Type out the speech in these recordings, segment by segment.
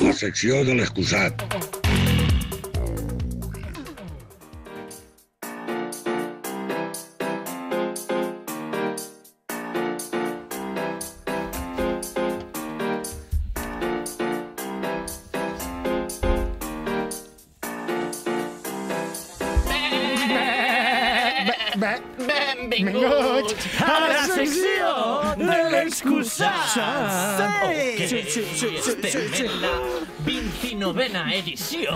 La secció de l'excusat. Benvinguts a la secció de l'excusat. Estem en la 29a edició,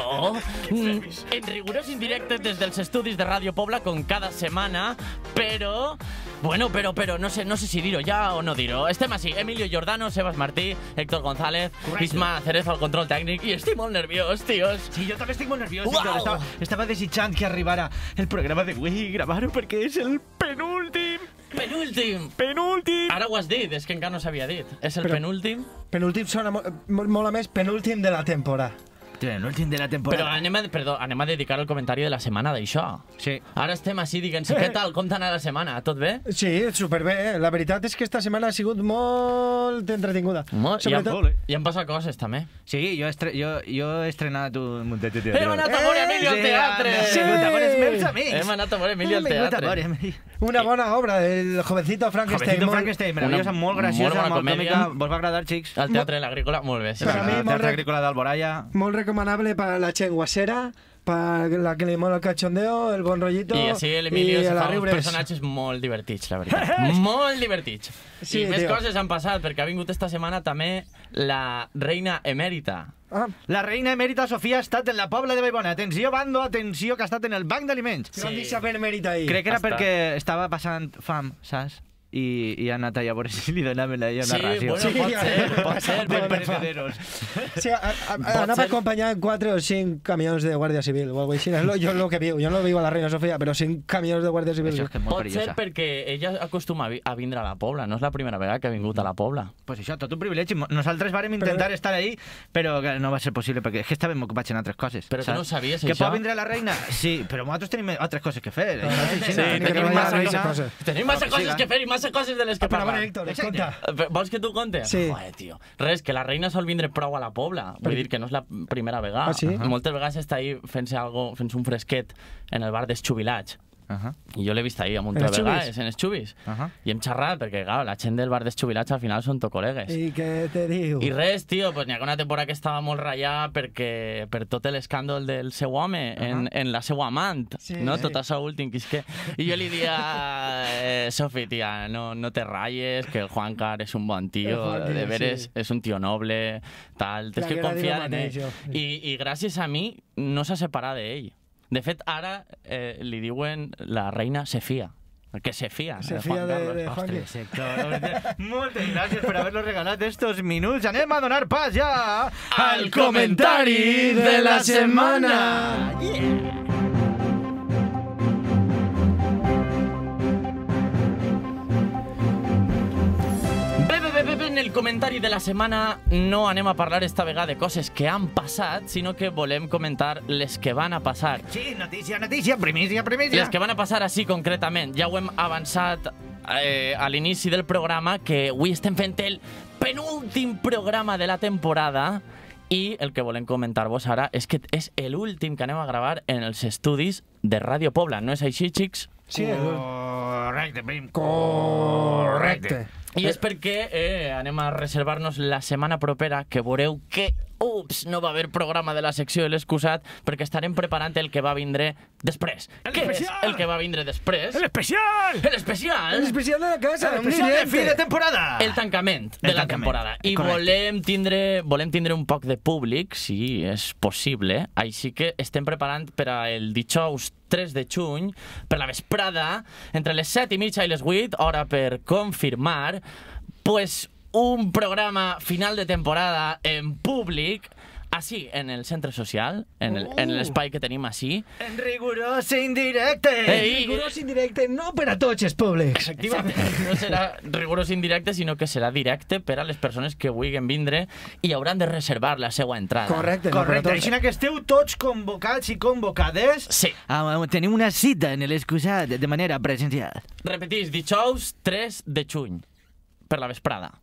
en rigorós indirecte des dels estudis de Ràdio Pobla, com cada setmana, però... Bueno, però no sé si dir-ho ja o no dir-ho. Estem així, Emilio Giordano, Sebas Martí, Héctor González, Isma Cerezo al control tècnic, i estic molt nerviós, tios. Sí, jo també estic molt nerviós, Héctor. Estava desitjant que arribara el programa d'avui, gravar-ho, perquè és el penúltim. Penúltim! Ara ho has dit, és que encara no s'havia dit. És el penúltim. Penúltim sona molt més penúltim de la temporada. L'últim de la temporada. Però anem a dedicar el comentari de la setmana d'això. Sí. Ara estem així dient-se, què tal, com t'ha anat la setmana? Tot bé? Sí, superbé. La veritat és que esta setmana ha sigut molt entretinguda. I han passat coses, també. Sí, jo he estrenat un muntet de teatre. Hem anat a veure Emilio al teatre! Sí, hem anat a veure Emilio al teatre. Una bona obra, el Jovencito Frankenstein. Meravellosa, molt graciosa, molt còmica. Vos va agradar, xics? Al Teatre de l'Agrícola, molt bé. El Teatre Agrícola d'Alboraya. Molt recomanable para la chenguasera, para la que li mola el cachondeo, el bon rollito. I així l'Emilio se fa uns personatges molt divertits, la veritat. Molt divertits. I més coses han passat, perquè ha vingut esta setmana també la reina emèrita. La reina emèrita Sofia ha estat en la Pobla de Vallbona. Atenció, bando, atenció, que ha estat en el banc d'aliments. Però han dit saber emèrita ahí. Crec que era perquè estava passant fam, saps? I ha anat allà a veure si li donaven a ella una ració. Sí, bueno, pot ser. Per perecederos. Sí, anava acompanyant 4 o 5 camions de Guàrdia Civil o alguna cosa així. Jo no lo viu a la reina Sofia, però 5 camions de Guàrdia Civil. Això és que és molt perillosa. Pot ser perquè ella acostuma a vindre a la Pobla. No és la primera vegada que ha vingut a la Pobla. Pues això, tot un privilegi. Nosaltres vàrem intentar estar ahí, però no va ser possible, perquè és que estàvem ocupats en altres coses. Però tu no sabies, això? Que pot vindre la reina? Sí, però nosaltres tenim altres coses que fer. Tenim massa coses que fer i massa coses de les que parlar. Héctor, conta. Vols que tu conte? Sí. Joder, tio. Res, que la reina sol vindre prou a la Pobla. Vull dir que no és la primera vegada. Ah, sí? Moltes vegades està ahí fent-se un fresquet en el bar dels Xubilats. I jo l'he vist ahí amb un tres vegades, en els xubis. I hem xerrat, perquè la gent del bar dels Xubilats al final són col·legues. I què te diu? I res, tio, n'hi ha una temporada que estava molt ratllada per tot l'escàndol del seu home en la seva amant, no? Tot això últim que és que... I jo li dia, Sofi, tia, no te ratlles, que el Juancar és un bon tio, de veres és un tio noble, tal, tens que confiar en ell. I gràcies a mi no s'ha separat d'ell. De fet, ara li diuen la reina se fia. Que se fia. Se fia de Juanqui. Moltes gràcies per haver-nos regalat estos minuts. Anem a donar pas ja al comentari de la setmana. En el comentari de la setmana no anem a parlar esta vegada de coses que han passat, sinó que volem comentar les que van a passar. Sí, notícia, primícia. Les que van a passar així concretament. Ja ho hem avançat a l'inici del programa, que avui estem fent el penúltim programa de la temporada i el que volem comentar-vos ara és que és l'últim que anem a gravar en els estudis de Ràdio Pobla. No és així, xics? Sí, correcte, prim. Correcte. I és perquè anem a reservar-nos la setmana propera, que veureu que, no va haver programa de la secció de l'excusat, perquè estarem preparant el que va vindre després. Què és el que va vindre després? L'especial! L'especial de la casa. L'especial de fi de temporada. El tancament de la temporada. I volem tindre un poc de públic, si és possible, així que estem preparant per al dijous 3 de juny, per la vesprada, entre les 7:30 i les 8, hora per confirmar, pues un programa final de temporada en públic, així, en el centre social, en l'espai que tenim així. En rigorós indirecte. Rigorós indirecte, no per a tots els públics. Efectivament, no serà rigorós indirecte, sinó que serà directe per a les persones que vulguin vindre i hauran de reservar la seva entrada. Correcte. Així que esteu tots convocats i convocades. Sí. Tenim una cita en l'excusat de manera presencial. Repetís, dijous 3 de juny, per la vesprada.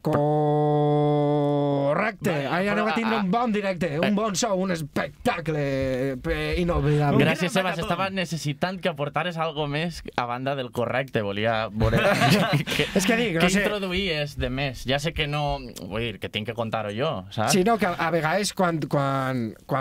Correcte. correcte. Ahir anem a tindre un bon directe, un bon show, un espectacle inoblidable. Gràcies, Sebas. Estava necessitant que aportares algo més a banda del correcte. Volia veure És que dic, no què sé. introduïes de més. Ja sé que no... Vull dir, que tinc que contar-ho jo, saps? Sí, no, que a vegades quan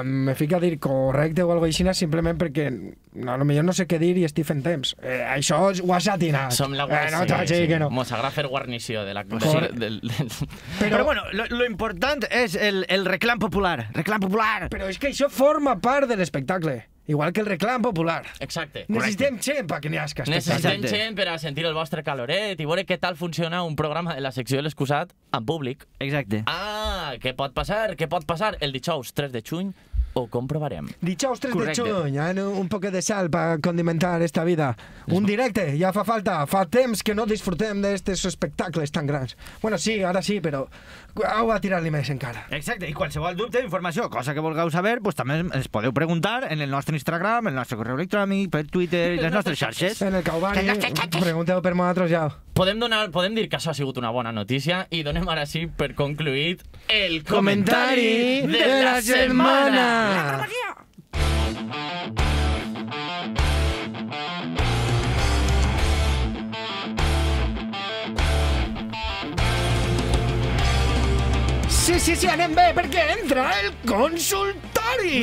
me fico a dir correcte o alguna cosa així, simplement perquè potser no sé què dir i estic fent temps. Això ho has atinat. Som la no t'haig de dir que no. Mos agrada fer guarnició de la... Però bueno, lo important és el reclam popular. Reclam popular! Però és que això forma part de l'espectacle. Igual que el reclam popular. Exacte. Necessitem gent perquè n'hi hagi Necessitem gent per a sentir el vostre caloret i veure què tal funciona un programa de la secció de l'excusat en públic. Exacte. Ah, què pot passar? Què pot passar? El dijous 3 de juny ho comprovarem. Dijous 3 Correcte. de juny, un poquet de sal para condimentar esta vida. Un directe, ja fa falta. Fa temps que no disfrutem d'estos espectacles tan grans. Bueno, sí, ara sí, però heu de tirar-li més encara. Exacte, i qualsevol dubte, informació, cosa que vulgueu saber, pues, també ens podeu preguntar en el nostre Instagram, el nostre correu electrònic, per Twitter i les nostres xarxes. En el Caubani, pregunteu per nosaltres ja. Podem dir que això ha sigut una bona notícia i donem ara sí per concluït el Comentari de la setmana. Sí, anem bé, perquè entra el consultori!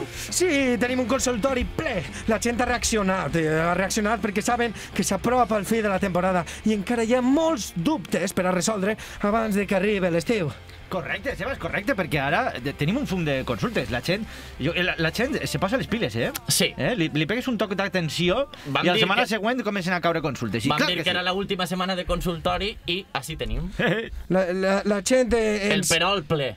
Sí, tenim un consultori ple. La gent ha reaccionat perquè saben que s'apropa el fi de la temporada i encara hi ha molts dubtes per a resoldre abans de que arribi l'estiu. Correcte, Sebas, correcte, perquè ara tenim un fum de consultes. La gent se posa les piles, eh? Sí. Li pegues un toc d'atenció i la setmana següent comencen a caure consultes. Vam dir que era l'última setmana de consultori i així tenim. La gent... El perol ple.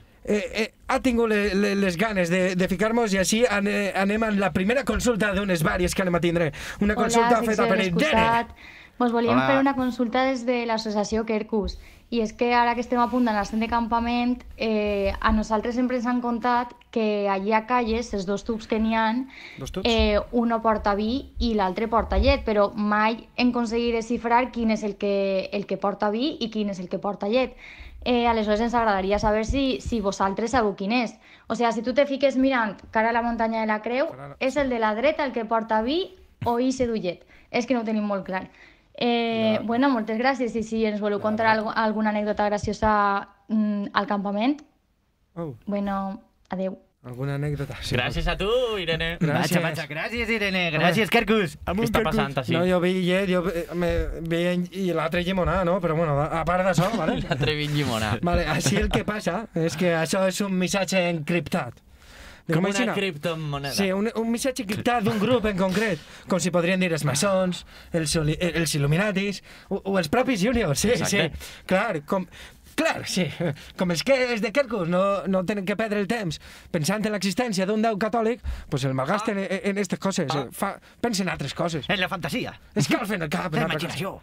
Ha tingut les ganes de ficar-nos i així anem a la primera consulta d'unes vàries que anem a tindre. Una consulta feta per Irene. Vos volíem fer una consulta des de l'associació Quercus. I és que ara que estem a punt d'anar de campament, a nosaltres sempre ens han contat que allí a Calles, els dos tubs que n'hi ha, uno porta vi i l'altre porta llet, però mai hem aconseguit desxifrar quin és el que porta vi i quin és el que porta llet. Aleshores ens agradaria saber si vosaltres sabeu quin és. O sigui, si tu te fiques mirant cara a la muntanya de la Creu, és el de la dreta el que porta vi o ixe du llet. És que no ho tenim molt clar. Bueno, moltes gràcies i si ens voleu contar alguna anècdota graciosa al campament, bueno, adeu. Alguna anècdota? Sí, gràcies a tu, Irene. Gràcies. Gràcies, Irene. Gràcies, Quercus. Què està passant així? No, jo vi llet, i l'altre llimonà, no? Però bueno, a part d'això, vale? L'altre vi llimonà. Vale, així el que passa és que això és un missatge encriptat. Com una criptomoneda. Sí, un missatge encriptat d'un grup en concret, com si podrien dir els maçons, els il·luminatis o els propis juniors, sí, exacte. Sí. Clar, sí. Com els que és de Quercus no tenen que perdre el temps pensant en l'existència d'un déu catòlic, doncs el malgasten en aquestes coses. Pensen en altres coses. En la fantasia. Escalfen el cap. La imaginació.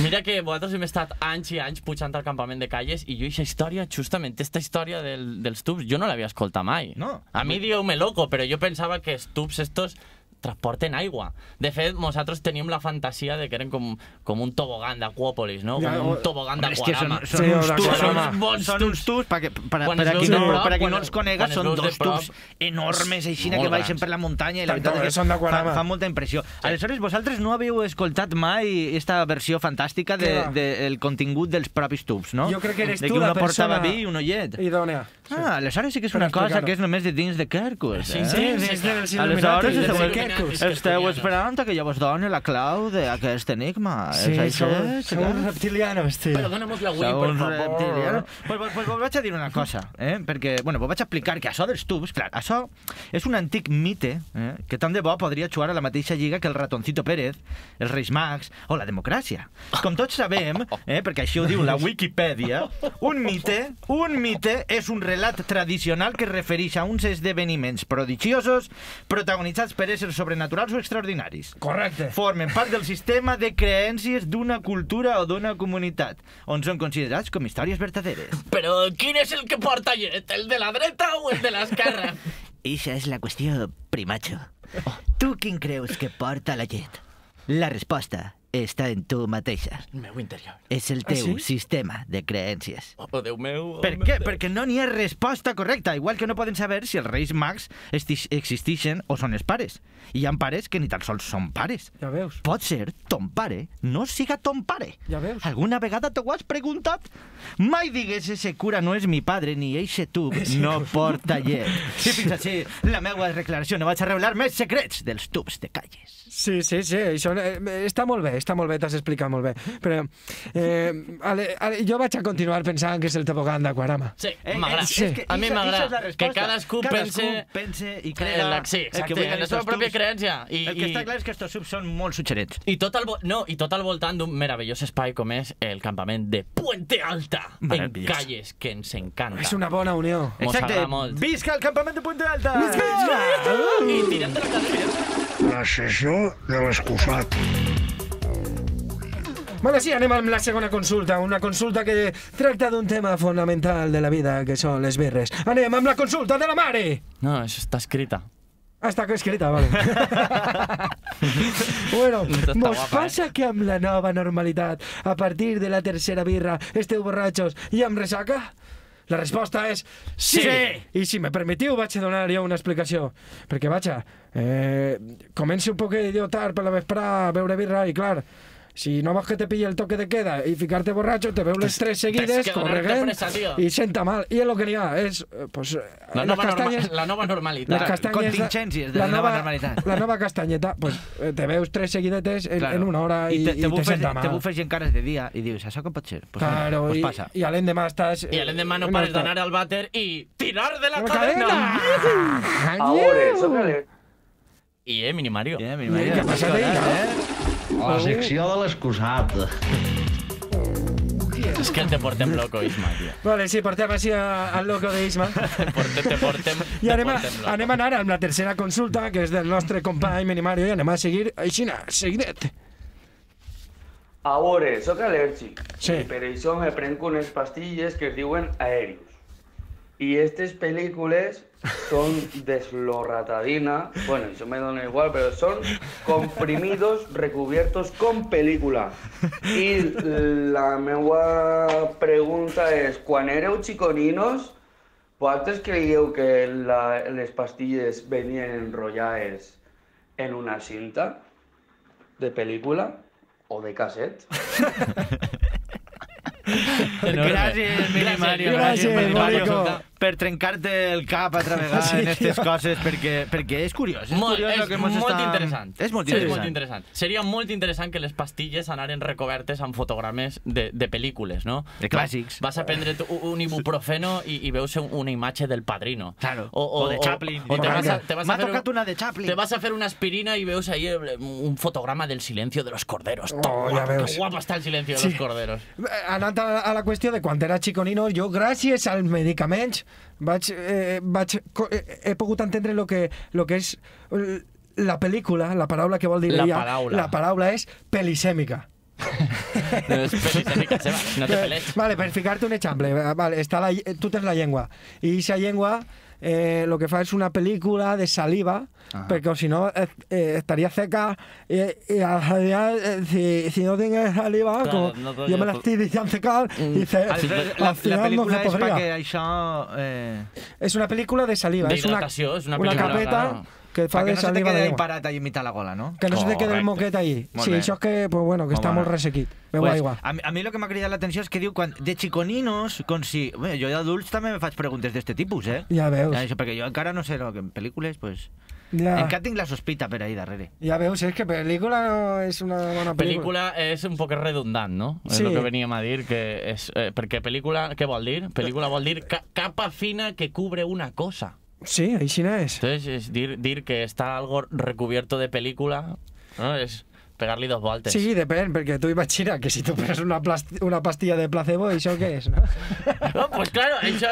Mira que vosaltres hem estat anys i anys pujant al campament de Calles i jo aquesta història, justament aquesta història dels tubs, jo no l'havia escoltat mai. No. A mi dieu-me loco, però jo pensava que els tubs estos transporten aigua. De fet, nosaltres teníem la fantasia de que eren com un tobogan d'Aquòpolis, no? Com un tobogan d'Aquarama. Són uns tubs, per a qui no els conega, són dos tubs enormes així que baixen per la muntanya i la veritat és que fa molta impressió. Aleshores, vosaltres no haveu escoltat mai esta versió fantàstica del contingut dels propis tubs, no? Jo crec que eres tu De la que uno portava persona vi i uno llet. idònea. Aleshores sí que és una cosa que és només de dins de Quercus. Sí, des dels Aleshores il·luminatis. esteu esperant que jo vos doni la clau d'aquest enigma. Sí, som reptilianos, tio. Però dóna-mos la Wii, per favor. Pues vos vaig a dir una cosa, perquè, bueno, vos vaig a explicar que això dels tubs, clar, això és un antic mite que tant de bo podria jugar a la mateixa lliga que el ratoncito Pérez, els Reis Mags o la democràcia. Com tots sabem, perquè així ho diu la Wikipedia, un mite és un relat tradicional que es refereix a uns esdeveniments prodigiosos protagonitzats per éssers sobrenaturals o extraordinaris. Correcte. Formen part del sistema de creences d'una cultura o d'una comunitat, on són considerats com històries verdaderes. Però quin és el que porta llet? El de la dreta o el de l'esquerra? Eixa és la qüestió, primacho. Tu quin creus que porta la llet? La resposta està en tu mateixa. El meu interior. És el teu sistema de creences. Oh, Déu meu. Per què? Perquè no n'hi ha resposta correcta, igual que no poden saber si els Reis Mags existeixen o són els pares. I hi ha pares que ni tan sols són pares. Ja veus. Pot ser ton pare no siga ton pare. Ja veus. Alguna vegada t'ho has preguntat? Mai digues ese cura no és mi padre ni eixe tub no porta llet. I fins així la meva declaració. No vaig a revelar més secrets dels tubs de calles. Sí, això està molt bé, t'has explicat molt bé. Però jo vaig a continuar pensant que és el tobogan d'Aquarama. Sí, m'agrada. A mi m'agrada que cadascú pense i crea sí, exacte, en la seva pròpia creença. El que està clar és que estos subs són molt suggerents. I tot al voltant d'un meravellós espai com és el campament de Puente Alta, en Calles, que ens encanta. És una bona unió. Exacte. Visca el campament de Puente Alta! Visca! I tirem de la cadena. La sessió de l'excusat. Bueno, sí, anem amb la segona consulta. Una consulta que tracta d'un tema fonamental de la vida, que són les birres. Anem amb la consulta de la mare! No, això està escrita. Ah, està escrita, vale. Bueno, mos passa que amb la nova normalitat, a partir de la tercera birra, esteu borratxos i amb ressaca? La resposta és sí! I si me permetiu, vaig a donar jo una explicació. Perquè, vaja, comenci un poc idiotar per la vesprada a beure birra i, clar, si no vols que te pilli el toque de queda i ficar-te borratxo, te veu les 3 seguides, corregent, i senta mal. I el que n'hi ha és, pues, la nova normalitat. Les castanyes, contingències de la nova normalitat. La nova castanyeta, pues, te veus 3 seguidetes en una hora i te senta mal. Te bufes en cares de dia i dius, això com pot ser? Claro, pues passa. I a l'endemà estàs... I a l'endemà no pares d'anar al vàter i tirar de la cadena! Ahora, sócale. I Mini Mario. Què passa d'ell? La secció de l'excusat. És que te portem loco, Isma, tio. Vale, sí, portem així al loco d'Isma. Te portem I anem a anar amb la tercera consulta, que és del nostre company Mini Mario, i anem a seguir així, seguidet. Ahora, soc al·lèrgic. Sí. I per això me prenc unes pastilles que es diuen aèrius. I aquestes pel·lícules son desloratadina, bueno, eso me da igual, pero son comprimidos recubiertos con película. Y la meva pregunta és, quan éreu xiconinos, vosaltres creieu que les pastilles venien enrotllades en una cinta de pel·lícula o de casset? Gràcies, Mini Mario. Gràcies, Mario. Per trencar-te el cap altra vegada en aquestes coses, perquè és curiós. És molt interessant. És molt interessant. Seria molt interessant que les pastilles anaren recobertes amb fotogrames de pel·lícules, no? De clàssics. Vas a prendre't un ibuprofeno i veus una imatge del Padrino. Claro. O de Chaplin. M'ha tocat una de Chaplin. Te vas a fer una aspirina i veus ahí un fotograma del silencio de los corderos. Ja veus. Que guapo està el silencio de los corderos. Anant a la qüestió de quan era xiconino, jo, gràcies als medicaments, he pogut entendre lo que és la pel·lícula, la paraula que vol dir ella. La paraula és pelisèmica. No és pelisèmica seva, no te peleix. Vale, per ficar-te un exemple, vale, tu tens la llengua, i aquesta llengua lo que fa és una pel·lícula de saliva, perquè si no estaria seca, si no tingués saliva, jo me l'estic deixant secar, i la pel·lícula és perquè això... És una pel·lícula de saliva, és una capeta que fa de saliva de llengua. Que no se te quede ahí parat ahí mitad la gola, ¿no? Que no se te quede el moquet ahí. Sí, això és que, pues bueno, que està molt ressequit. Beu aigua. A mi el que m'ha cridat l'atenció és que diu, de xiconinos, com si... Jo d'adults també me faig preguntes d'aquest tipus, eh? Ja veus. Perquè jo encara no sé, en pel·lícules, pues... Ja. Encara tinc la sospita per ahí darrere. Ja veus, és que pel·lícula no és una bona pel·lícula. Pel·lícula és un poc redundant, no? Sí. És el que veníem a dir, que és... perquè pel·lícula, què vol dir? Pel·lícula vol dir capa fina que cubre una cosa. Sí, així és. Entonces, es dir que està algo recubierto de película, ¿no? És pegar-li 2 voltes. Sí, depèn, perquè tu imagina que si tu pres una pastilla de placebo, això què és, no? No, pues claro, això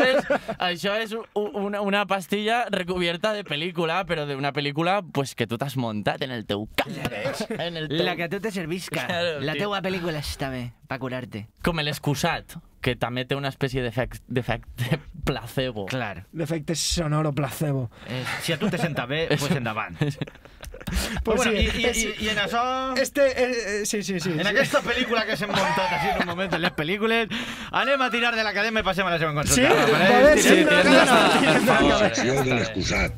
és una pastilla recubierta de pel·lícula, però d'una pel·lícula pues, que tu t'has muntat en el teu cap. La que a tu te servisca. Claro, la teua pel·lícula està bé, per curar-te. Com l'excusat, que també té una espècie d'efecte placebo. Clar. L'efecte sonoro placebo. Si a tu te senta bé, pues endavant. Pues Bueno, sí, i en això... sí. En aquesta pel·lícula que s'hem muntat així en un moment en les pel·lícules, anem a tirar de la cadena i passem a la següent consulta. Sí? Va, Vale, sí, tirem. Secció de l'excusat.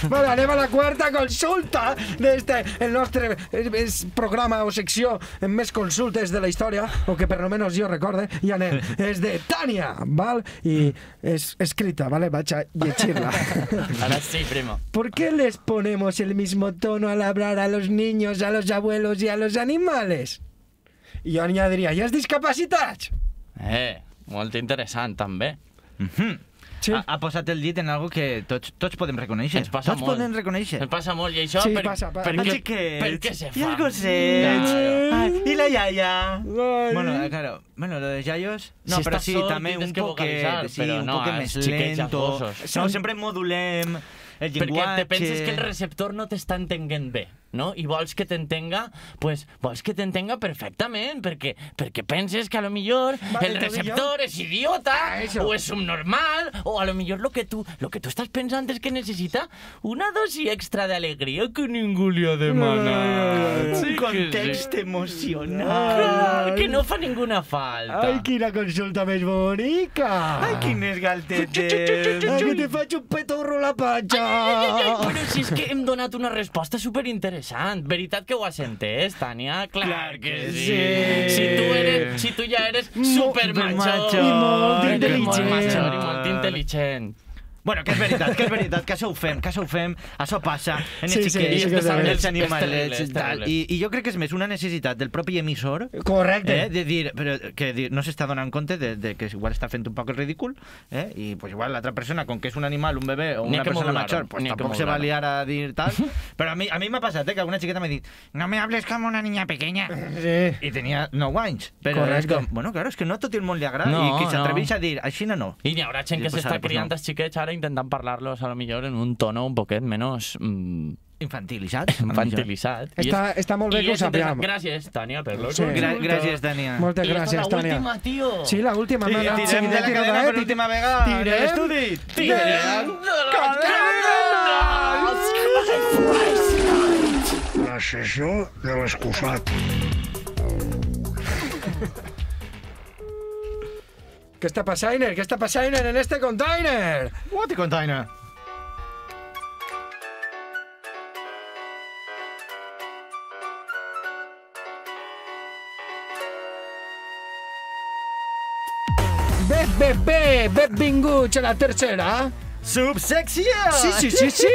Vale, anem a la quarta consulta el nostre programa o secció amb més consultes de la història, o que per almenys jo recorde, i anem. És de Tània, val? I és escrita, vale? Vaig a llegir-la. Ahora sí, primo. ¿Por qué les ponemos el mismo tono al hablar a los niños, a los abuelos y a los animales? I jo añadiria, i els discapacitats? Molt interessant, també. Sí. Ha posat el dit en algo que tots podem reconèixer. Ens passa tots molt. podem reconèixer. Ens passa molt, i això Sí, per passa. què se fa? I els gossets. Claro. Ai, I la iaia. Ai. Bueno, lo de yayos... No, Si però estàs sí, sord, també tienes un que poquet, vocalitzar, sí, però un no, poquet els més xiquets lento. gossos. No, sempre modulem el Perquè llenguatge. te penses que el receptor no t'està entenent bé, no? I vols que t'entenga, pues, vols que t'entenga perfectament, perquè penses que a lo millor Vale, el te receptor és idiota, Eso. o és subnormal, o a lo millor lo que tu estàs pensant és que necessita una dosi extra d'alegria que ningú li ha demanat. Un context emocional. Clar, que no fa ninguna falta. Ai, quina consulta més bonica! Ai, quines galtetes. Ai, que te faig un petorro a la panxa! Però si és que hem donat una resposta superinteressant. Veritat que ho has entès, Tània? Clar que sí. Si tu ja eres supermacho. I molt intel·ligent. I molt intel·ligent. Bueno, que és veritat, que això ho fem, això passa en els Sí, xiquets, sí, que és fan terrible, els animalets és i tal. terrible. I jo crec que és més una necessitat del propi emissor Correcte. de dir, però que no s'està donant compte de que igual està fent un poc el ridícul, i pues igual l'altra persona, com que és un animal, un bebè o N'hi ha una que persona modular-ho, major, pues n'hi ha que tampoc se va modular-ho. liar a dir tal. Però a mi m'ha passat, que alguna xiqueta m'ha dit no me hables com una niña pequeña. Sí. I tenia 9 anys. Però és Correcte. com, bueno, claro, és que no a tot el món li agrada No, i qui no. s'atreveix a dir, així no. I n'hi haurà gent que Pues s'està ara, pues criant no. els xiquets ara intentant parlar-los a lo millor en un tono un poquet menys Infantilitzat. infantilitzat. Està molt bé que ho sapiguem. Gràcies, Tània, per la Sí. Gràcies, Tània. Moltes I esta gràcies, és la Tània. última, tio. Sí, l'última. I tirem de la cadena per última vegada. Tirem. En l'estudi. Tirem de la La sessió de l'excusat. Què està passant? Què està passant en este container? What a container. Benvinguts a la tercera. Subsecció! Sí.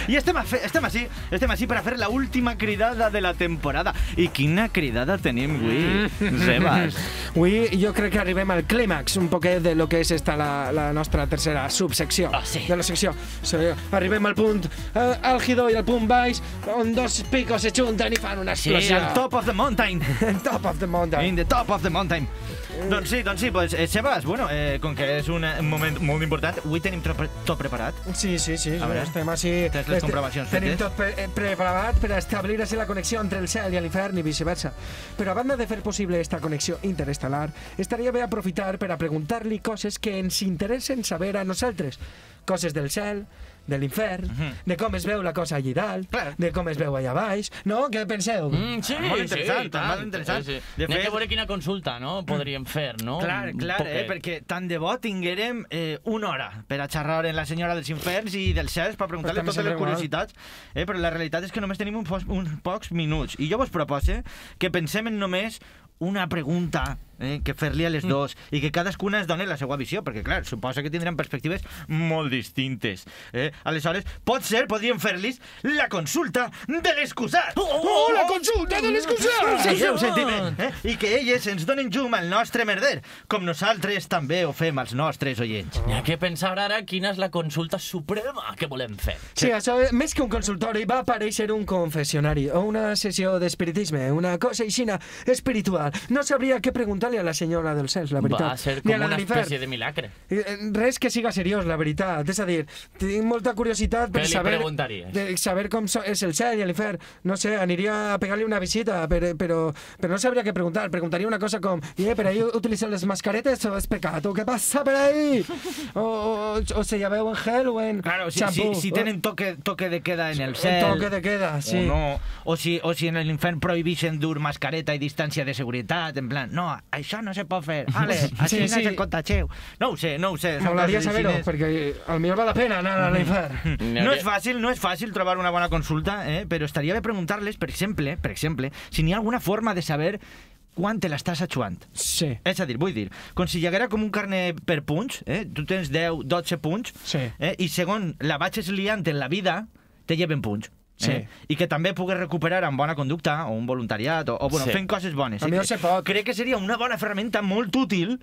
I estem així per a fer la última cridada de la temporada. I quina cridada tenim avui, Sebas? Avui jo crec que arribem al clímax un poquet de lo que és la nostra tercera subsecció. sí. De la secció. Sí, arribem al punt àlgido i al punt baix, on dos picos se junten i fan una Sí, explosió. al top of the mountain. Top of the mountain. In the top of the mountain. Doncs sí, pues, Sebas, bueno, com que és un moment molt important, avui tenim tot preparat. Sí. A veure, estem així... tens les comprovacions Tenim fetes? tot preparat per establir així la connexió entre el cel i l'infern i viceversa. Però a banda de fer possible esta connexió interestel·lar, estaria bé aprofitar per a preguntar-li coses que ens interessen saber a nosaltres. Coses del cel, de l'infern, de com es veu la cosa allà dalt, Clar. de com es veu allà baix, no? Què penseu? Sí, Molt interessant, i tant. molt interessant. Sí. De N'hi ha fet- que veure quina consulta, no? Podríem fer, no? Clar, Un clar, poquet. perquè tant de bo tinguérem una hora per a xerrar en la senyora dels inferns i dels cels per preguntar-li Pues també totes les sembla igual. curiositats, però la realitat és que només tenim uns pocs minuts. I jo vos propose que pensem en només una pregunta que fer-li a les dos i que cadascuna es doni la seva visió, perquè, clar, suposa que tindran perspectives molt distintes. Aleshores, podríem fer-los la consulta de l'excusat. Oh, la consulta de l'excusat! Sí, ho sentim, I que elles ens donen llum al nostre merder, com nosaltres també ho fem als nostres oients. N'hi ha que pensar ara quina és la consulta suprema que volem fer. Sí, això, més que un consultori, va aparèixer un confessionari o una sessió d'espiritisme, una cosa aixina espiritual. No sabria què preguntar cel ni a la senyora del cel, la veritat. Va ser Ni com a la una de l'infern. espècie de milagre. Res que siga seriós, la veritat. És a dir, tinc molta curiositat per Què li saber... preguntaries? Saber com és el cel i l'infern. No sé, aniria a pegar-li una visita, però no sabria què preguntar. Preguntaria una cosa com, per ahí utilitzen les mascaretes o és pecat? O què passa per ahí? O se llaveu en gel o en Claro, xampú. si tienen toque de queda en el cel. Toque de queda, sí. O no. O si en l'infern prohibixen dur mascareta i distància de seguretat, en plan, no, això no se pot fer. Ale, així no se contageu. No ho sé. Molaria saber-ho, perquè potser val la pena anar a l'infern. No és fàcil trobar una bona consulta, però estaria bé preguntar-les, per exemple, si n'hi ha alguna forma de saber quan te l'estàs atxuant. Sí. És a dir, vull dir, com si hi haguera com un carnet per punts, tu tens 10, 12 punts, Sí. I segons la vagis liant en la vida, te lleven punts. Sí. I que també pugues recuperar amb bona conducta o un voluntariat o Sí. fent coses bones. A mi no se pot. Crec que seria una bona ferramenta molt útil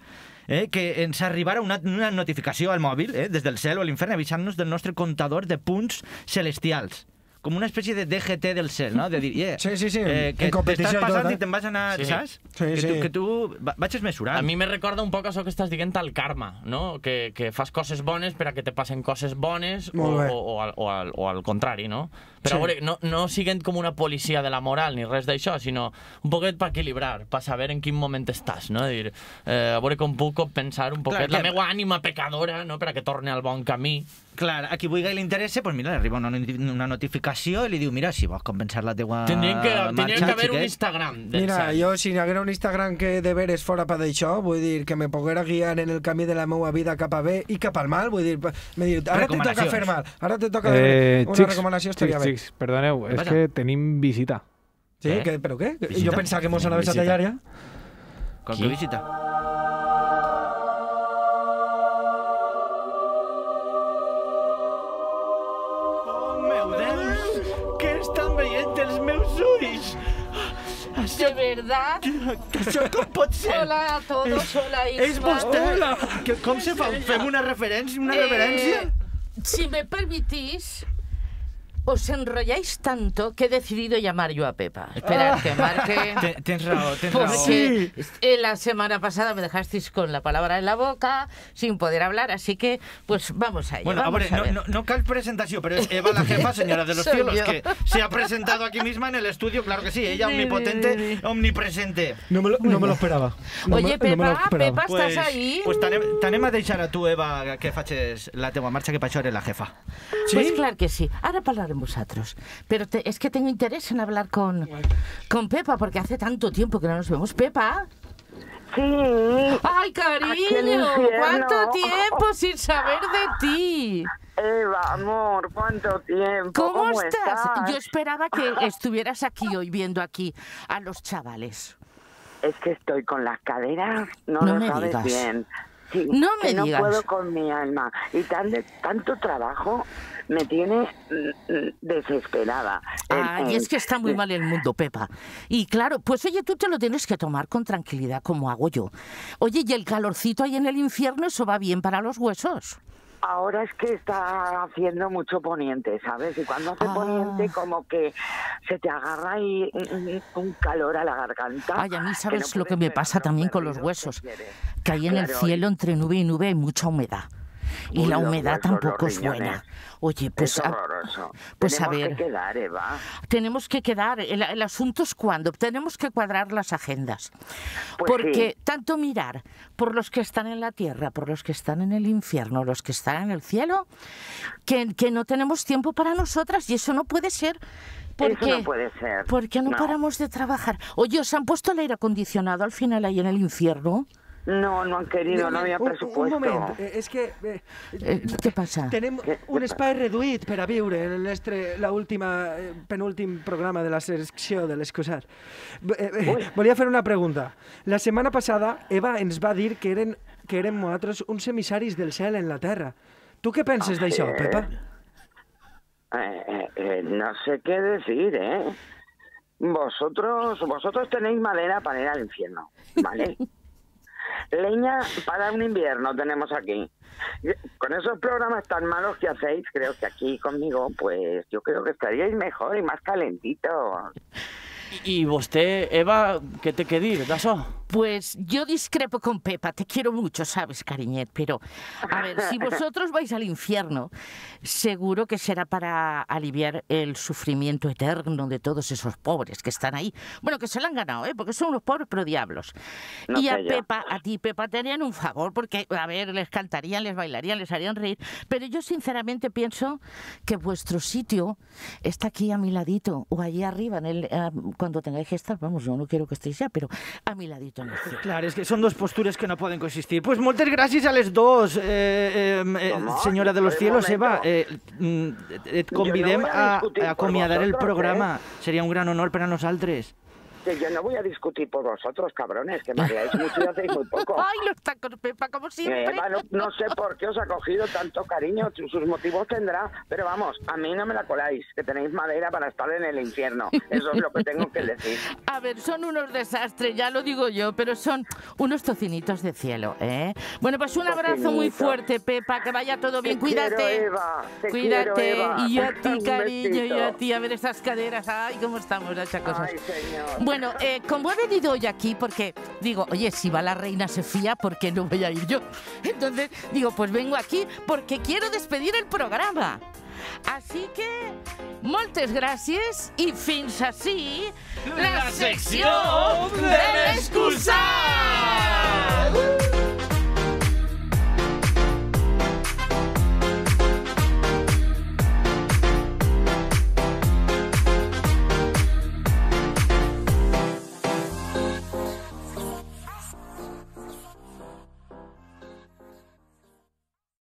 que ens arribara una notificació al mòbil des del cel o a l'infern avisant-nos del nostre comptador de punts celestials. Com una espècie de DGT del cel, no? De dir, Sí, que en competició t'estàs i tot, passant i te'n vas anar, Sí. saps? Sí, Que tu vagis mesurant. A mi me recorda un poc això que estàs dient al karma, no? Que fas coses bones per a que te passen coses bones Molt bé. o al contrari, no? Però Sí. a veure, no siguent com una policia de la moral ni res d'això, sinó un poquet per equilibrar, per saber en quin moment estàs, no? Dir, a veure com puc compensar un poquet Clar, la meva ànima pecadora, no? Per a que torni al bon camí. Clar, a qui vulgui li interessa, doncs mira, li arriba una notificació i li diu, mira, si vols compensar la teua Tindria que marxa, haver un xiquet. Instagram del Mira, cel. jo si n'hi haguera un Instagram que de veres fora per d'això, vull dir, que me poguera guiar en el camí de la meva vida cap a bé i cap al mal, vull dir, me diu, ara te toca Recomanacions. fer mal, ara te toca una recomanació estaria bé. Xics, perdoneu, és passa? que tenim visita. Sí, Què? però què? Visita? Jo pensava que mos anaves a Visita. tallar ja. Qualque visita. Oh, meu Déu! Què estan veient els meus ulls? ¿De verdad? Això com pot ser? Hola a todos, hola És Isma. vostè? Com se fa? Fem una referència, una reverència? Si me permitís, os enrolláis tanto que he decidido llamar yo a Pepa. Esperad que marque. Tens raó, tens Porque la semana pasada me dejasteis con la palabra en la boca, sin poder hablar, así que, pues vamos a ello. Bueno, a vamos ver, no cal presentación, pero es Eva la jefa, señora de los Soy cielos, yo. que se ha presentado aquí misma en el estudio, claro que sí, ella omnipotente, omnipresente. No me lo esperava. Oye, Pepa, Pepa, ¿estás ahí? Pues t'anem a deixar a tu, Eva, que facis la teua marxa, que per això eres la jefa. Pues claro que sí. Ahora hablaremos vosotros. Pero es que tengo interés en hablar con Pepa, porque hace tanto tiempo que no nos vemos. Pepa. Sí. ¡Ay, Aquí en el cariño! infierno. ¿Cuánto tiempo sin saber de ti? Eva, amor, ¿cuánto tiempo? ¿Cómo estás? Yo esperaba que estuvieras aquí hoy viendo aquí a los chavales. Es que estoy con las caderas, no No lo me sabes digas. bien. Sí, No me que digas. No puedo con mi alma. Y tanto trabajo me tiene desesperada. Ay, es que está muy mal el mundo, Pepa. Y claro, pues oye, tú te lo tienes que tomar con tranquilidad, como hago yo. Oye, y el calorcito ahí en el infierno, eso va bien para los huesos. Ahora es que está haciendo mucho poniente, ¿sabes? Y cuando hace poniente, como que se te agarra ahí un calor a la garganta. Ay, a mí sabes no lo que puedes me pasa frenar también los con los berridos huesos. que quieres. Que ahí en el Claro, cielo, entre nube y nube, hay mucha humedad. Y Uy, la los humedad huesos, tampoco los es buena. riñones. Oye, pues, Es horroroso. pues a Tenemos ver. que quedar, Eva. Tenemos que quedar. El asunto es cuándo. Tenemos que cuadrar las agendas. Pues Porque sí. tanto mirar por los que están en la tierra, por los que están en el infierno, los que están en el cielo, que no tenemos tiempo para nosotras y eso no puede ser. Porque, Eso no puede ser. Porque no paramos de trabajar. Oye, ¿os han puesto el aire acondicionado al final ahí en el infierno? No, no han querido, no había presupuesto. Un moment, és que ¿Qué pasa? tenim un espai reduït per a viure en el nostre, penúltim programa de la secció de l'excusat. Volia fer una pregunta. La setmana passada Eva ens va dir que érem nosaltres uns emissaris del cel en la terra. Tu què penses d'això, Pepa? No sé qué decir, ¿eh? Vosotros tenéis madera para ir al infierno, ¿vale? Leña para un invierno tenemos aquí. Con esos programas tan malos que hacéis, creo que aquí conmigo, pues yo creo que estaríais mejor y más calentitos. I vostè, Eva, què té que dir d'això? Pues yo discrepo con Pepa, te quiero mucho, sabes, cariñet, pero a ver, si vosotros vais al infierno, seguro que será para aliviar el sufrimiento eterno de todos esos pobres que están ahí. Bueno, que se lo han ganado, porque son unos pobres pero diablos. No y a sé yo. Pepa, a ti, Pepa, te harían un favor, porque, a ver, les cantarían, les bailarían, les harían reír, pero yo sinceramente pienso que vuestro sitio está aquí a mi ladito, o allí arriba, cuando tengáis que estar, vamos, yo no quiero que estéis ya, pero a mi ladito en el cielo. Clar, és que són dos postures que no poden coexistir. Pues moltes gràcies a les dos, senyora de los cielos, Eva. Et convidem a acomiadar el programa. Seria un gran honor per a nosaltres. Que yo no voy a discutir por vosotros, cabrones, que me haríais mucho y hacéis muy poco. Ay, los tacos, Pepa, como siempre. Eva, no sé por qué os ha cogido tanto cariño, sus motivos tendrá, pero vamos, a mí no me la coláis, que tenéis madera para estar en el infierno. Eso es lo que tengo que decir. A ver, son unos desastres, ya lo digo yo, pero son unos tocinitos de cielo, ¿eh? Bueno, pues un abrazo muy fuerte, Pepa, que vaya todo bien, cuídate. Quiero, Eva, Cuídate. quiero, Eva. Y yo a ti, Un cariño, besito. y a ti, a ver esas caderas, ay, cómo estamos, esas cosas. Ay, señor. Bueno, como he venido hoy aquí, porque digo, oye, si va la reina Sofía, ¿por qué no voy a ir yo? Entonces, digo, pues vengo aquí porque quiero despedir el programa. Así que, moltes gràcies i fins ací la secció de l'excusat!